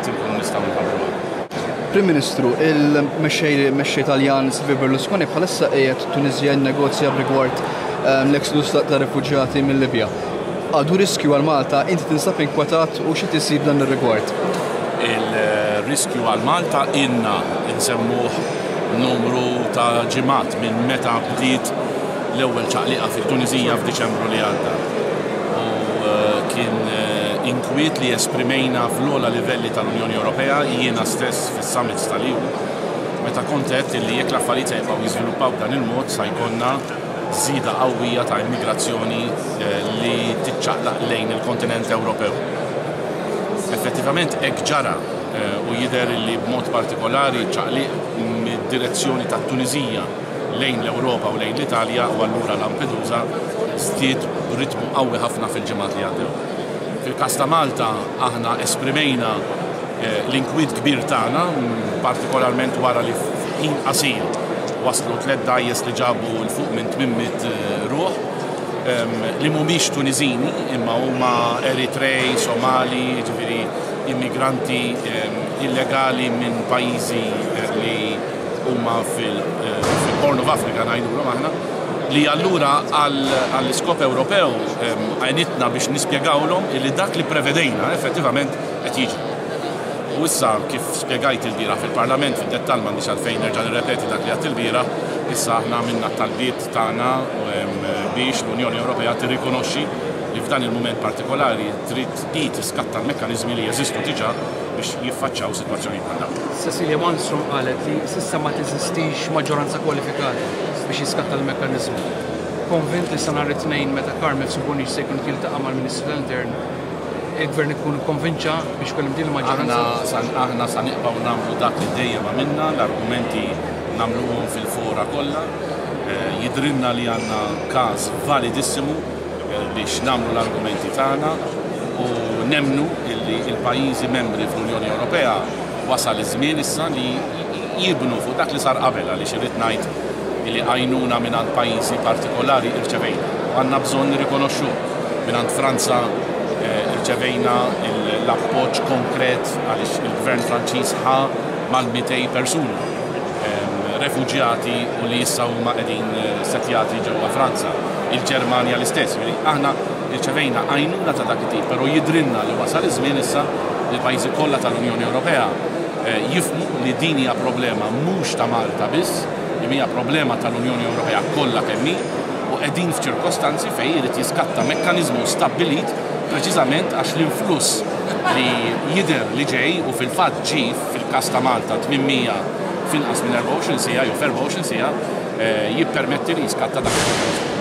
mbagħad inkunu nistgħu nħabbruha. Prim Ministru, il-mexxej mexxej Taljan Silvio Berlusconi bħalissa qiegħed Tunisja jinnegozja b'rigward ehm, l-exodus ta' rifuġjati mill-Libja. Għadu riskju għal Malta, inti tinsab inkwetat u xi tisir dan ir-rigward? Il-riskju għal Malta ilna nsemmuh numru ta' ġimgħat minn meta bdiet l-ewwel ċaqliqa fit-Tuniżija f'Diċembru li għadda. U eh, kien eh, inkwiet li esprimejna fl-ogħla livelli tal-Unjoni Ewropea, jiena stess fis-summits tal-EU, meta kont għedt li jekk l-affarijiet se jibqgħu jiżviluppaw b'dan il-mod sa jkollna żieda qawwija ta' immigrazzjoni eh, li tiċċaqlaq lejn il-kontinent Ewropew. Effettivament hekk ġara u jidher li b'mod partikolari ċaqliq mid-direzzjoni tat-Tuniżija lejn l-Ewropa u lejn l-Italja u allura Lampedusa żdied b'ritmu qawwi ħafna fil-ġimgħat li għaddew. Fil-każ ta' Malta aħna esprimejna eh, l-inkwiet kbir tagħna, partikolarment wara li f'ħin qasir waslu tliet dgħajjes li ġabu 'l fuq minn 800 eh, ruħ ehm, li mhumiex Tuniżini imma huma Eritrej, Somali, jiġifieri immigranti ehm, illegali minn pajjiżi eh, li huma fil-Horn of Africa ngħidulhom aħna, li allura għall-iskop Ewropew għenitna biex nispjegawlhom li dak li prevedejna effettivament qed jiġri. U issa kif spjegajt ilbieraħ fil-Parlament fid-dettall m'għandix għalfejn nerġa' nirrepeti dak li għedt ilbieraħ, issa aħna għamilna t-talbiet tagħna biex l-Unjoni Ewropea tirrikonoxxi li f'dan il-mument partikolari trid hi tiskatta l-mekkaniżmi li jeżistu diġà biex jiffaċċaw sitwazzjonijiet bħal dawn. Cecilia Malmström qalet li s'issa ma teżistix maġġoranza kwalifikata biex jiskatta l-mekkaniżmu. Konvint li sa nhar it-Tnejn meta Carmel Subonic se jkun qed jiltaqa' mal-Ministru tal-Intern, il-Gvern ikun ikkonvinċa biex ikun hemm din il-maġġoranza? Aħna sa nibqgħu nagħmlu dak li dejjem għamilna, l-argumenti nagħmluhom fil-fora kollha. Jidhrilna li għandna każ validissimu biex nagħmlu l-argumenti tagħna u nemmnu illi l-pajjiżi membri fl-Unjoni Ewropea wasal iż-żmien issa li jibnu fuq dak li sar qabel għaliex irrid ngħid illi għajnuna mingħand pajjiżi partikolari irċevejna u għandna bżonn nirrikonoxxuh. Mingħand Franza rċevejna l-appoġġ konkret għaliex il-Gvern Franċiż ħa mal-200 persuna refuġjati u li issa huma qegħdin settjati ġewwa Franza. Il-Ġermanja l-istess. Jiġifieri aħna rċevejna għajnuna ta' dak it-tip, però jidhrilna li wasal iż-żmien issa li l-pajjiżi kollha tal-Unjoni Ewropea jifhmu li din hija problema mhux ta' Malta biss, imma hija problema tal-Unjoni Ewropea kollha kemm hi u qegħdin f'ċirkostanzi fejn irid jiskatta mekkaniżmu stabbilit preċiżament għax l-influss li jidher li ġej u fil-fatt ġie fil-każ ta' Malta 800 f'inqas minn 24 siegħa jew f'24 siegħa jippermetti li jiskatta dak il-mekkaniżmu.